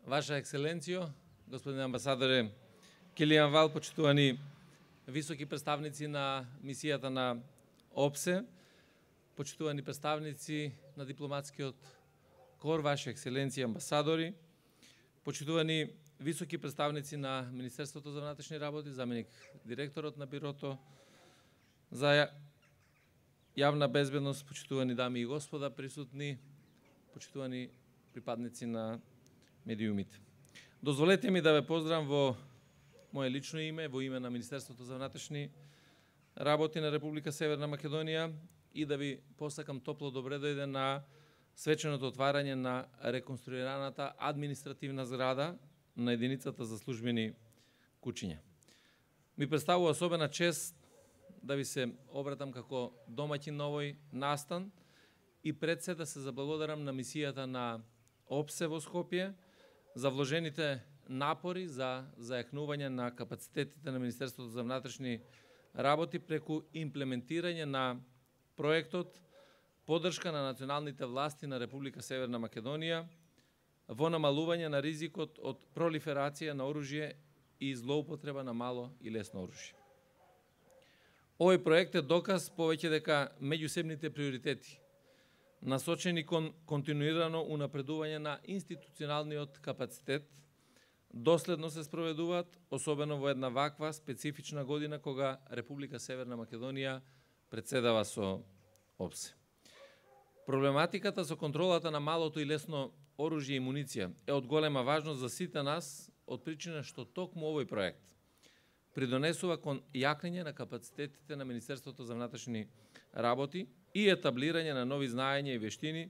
Ваша екселенцијо, господин амбасадоре Килијан Вал, почитувани високи представници на мисијата на ОПСЕ, почитувани представници на дипломатскиот кор, Ваша екселенција амбасадори, почитувани високи представници на Министерството за внатрешни работи, заменик директорот на Бирото за јавна безбедност, почитувани дами и господа присутни, почитувани припадници на медиумите. Дозволете ми да ве поздравам во мое лично име, во име на Министерството за внатрешни работи на Република Северна Македонија и да ви посакам топло добре дојде на свеченото отварање на реконструираната административна зграда на единицата за службени кучиња. Ми представува особена чест да ви се обратам како домаќин на овој настан и пред се да се заблагодарам на мисијата на ОПСЕ во Скопје за вложените напори за зајакнување на капацитетите на Министерството за внатрешни работи преку имплементирање на проектот поддршка на националните власти на Република Северна Македонија во намалување на ризикот од пролиферација на оружје и злоупотреба на мало и лесно оружје. Овој проект е доказ повеќе дека меѓусебните приоритети насочени кон континуирано унапредување на институционалниот капацитет доследно се спроведуваат, особено во една ваква специфична година кога Република Северна Македонија претседава со ОПСЕ. Проблематиката со контролата на малото и лесно оружје и муниција е од голема важност за сите нас од причина што токму овој проект придонесува кон јакнење на капацитетите на Министерството за внатрешни работи и етаблирање на нови знаења и вештини,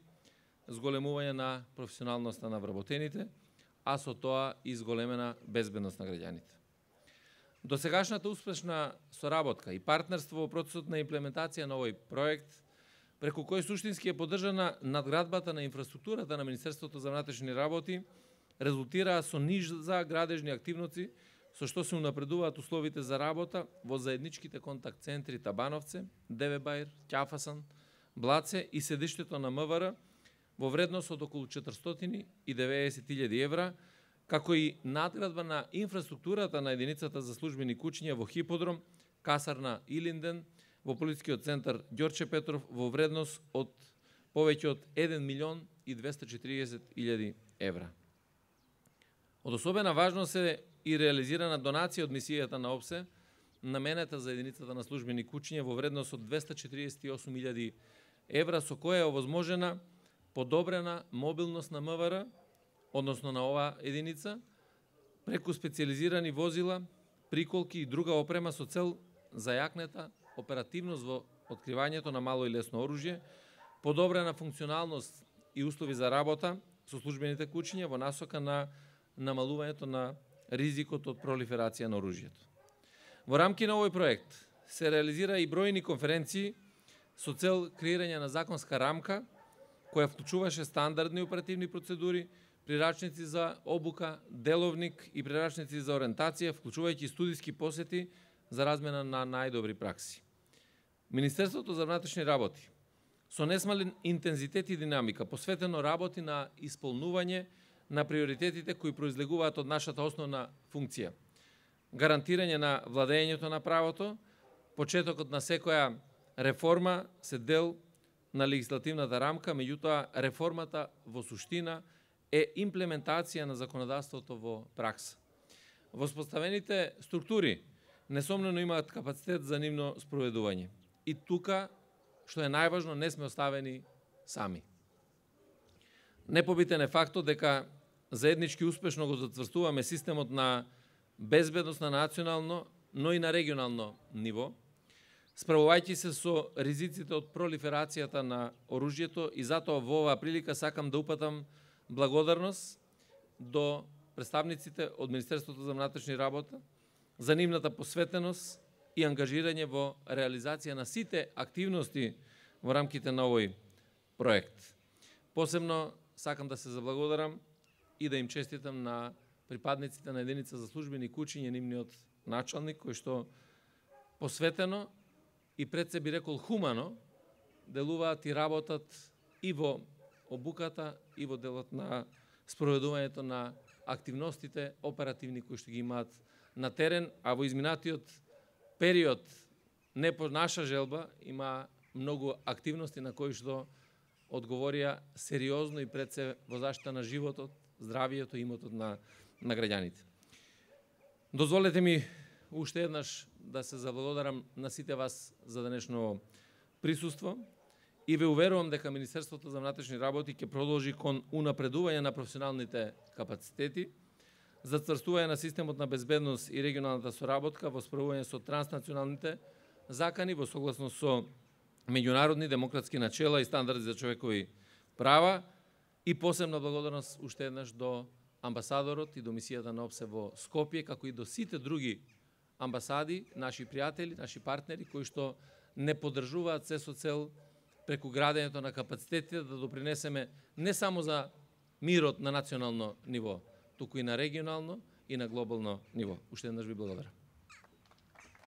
зголемување на професионалноста на вработените, а со тоа и зголемена безбедност на граѓаните. Досегашната успешна соработка и партнерство во процесот на имплементација на овој проект, преку кој суштински е поддржана надградбата на инфраструктурата на Министерството за внатрешни работи, резултираа со низа градежни активности, со што се унапредуваат условите за работа во заедничките контакт центри Табановце, Девебајр, Ќафасан, Блаце и седиштето на МВР во вредност од околу 490.000 евра, како и надградба на инфраструктурата на единицата за службени кучиња во Хиподром, касарна Илинден, во полицискиот центар Ѓорче Петров во вредност од повеќе од 1.240.000 евра. Од особена важност е и реализирана донација од мисијата на ОПСЕ, наменета за единицата на службени кучиња во вредност од 248.000 евра, со која е овозможена подобрена мобилност на МВР, односно на оваа единица, преку специализирани возила, приколки и друга опрема со цел зајакнета оперативност во откривањето на мало и лесно оружје, подобрена функционалност и услови за работа со службените кучиња во насока на намалувањето на ризикот од пролиферација на оружјето. Во рамки на овој проект се реализира и бројни конференции со цел креирање на законска рамка која вклучуваше стандардни оперативни процедури, прирачници за обука, деловник и прирачници за ориентација, вклучувајќи студиски посети за размена на најдобри пракси. Министерството за внатрешни работи со несмален интензитет и динамика посветено работи на исполнување на приоритетите кои произлегуваат од нашата основна функција. Гарантирање на владењето на правото, почетокот на секоја реформа се дел на легислативната рамка, меѓутоа реформата во суштина е имплементација на законодавството во пракса. Воспоставените структури несомнено имаат капацитет за нивно спроведување. И тука, што е најважно, не сме оставени сами. Непобитен е фактот дека заеднички успешно го затврстуваме системот на безбедност на национално, но и на регионално ниво, справувајќи се со ризиците од пролиферацијата на оружјето и затоа во оваа прилика сакам да упатам благодарност до представниците од Министерството за внатрешни работи за нивната посветеност и ангажирање во реализација на сите активности во рамките на овој проект. Посебно сакам да се заблагодарам и да им честитам на припадниците на единица за службени кучиња, нивниот началник, кој што посветено и пред се би рекол хумано делуваат и работат и во обуката и во делот на спроведувањето на активностите оперативни кои што ги имаат на терен, а во изминатиот период не по наша желба има многу активности на кои што одговорија сериозно и пред се во заштита на животот, здравието и имотот на граѓаните. Дозволете ми уште еднаш да се заблагодарам на сите вас за денешно присуство и ве уверувам дека Министерството за внатрешни работи ќе продолжи кон унапредување на професионалните капацитети, зацврстување на системот на безбедност и регионалната соработка во справување со транснационалните закани во согласност со меѓународни демократски начела и стандарди за човекови права и посебна благодарност уште еднаш до амбасадорот и до мисијата на ОПСЕ во Скопје, како и до сите други амбасади, наши пријатели, наши партнери, кои што не поддржуваат се со цел преку градењето на капацитетите да допринесеме не само за мирот на национално ниво, туку и на регионално и на глобално ниво. Уште еднаш ви благодарам.